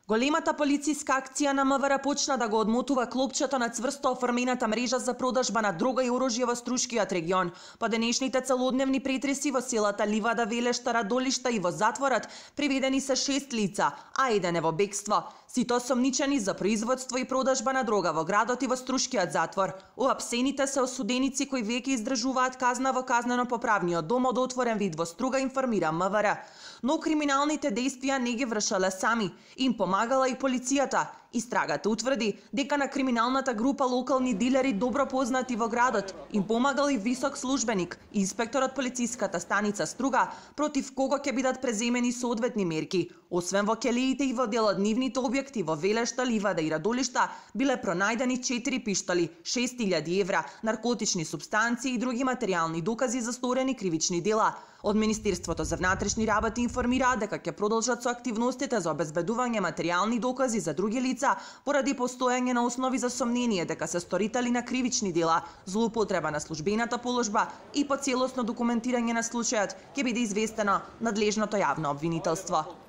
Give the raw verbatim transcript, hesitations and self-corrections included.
Големата полициска акција на МВР почна да го одмотува клопчето на цврсто оформената мрежа за продажба на дрога и оружје во Струшкиот регион. По денешните целодневни претреси во селата Ливада, Велешта, Радолишта и во затворот приведени се шест лица, а еден е во бегство. Сите осомничени за производство и продажба на дрога во градот и во Струшкиот затвор. Уапсените се осуденици кои веќе издржуваат казна во казнено-поправниот дом од отворен вид во Струга, информира МВР. Но криминалните действија не ги вршале сами, им помагала и полицијата. Истрагата утврди дека на криминалната група локални дилери добро познати во градот им помагал и висок службеник, инспектор од полициската станица Струга, против кого ќе бидат преземени соодветни мерки. Освен во келиите и во дел од нивните објекти во Велешта, Ливада и Радолишта биле пронајдени четири пиштоли, шест илјади евра, наркотични супстанции и други материјални докази за сторени кривични дела. Од Министерството за внатрешни работи информираат дека ќе продолжат со активностите за обезбедување материјални докази за други лица поради постоење на основи за сомнение дека се сторители на кривични дела, злоупотреба на службената положба и по целосно документирање на случајот ќе биде известено надлежното јавно обвинителство.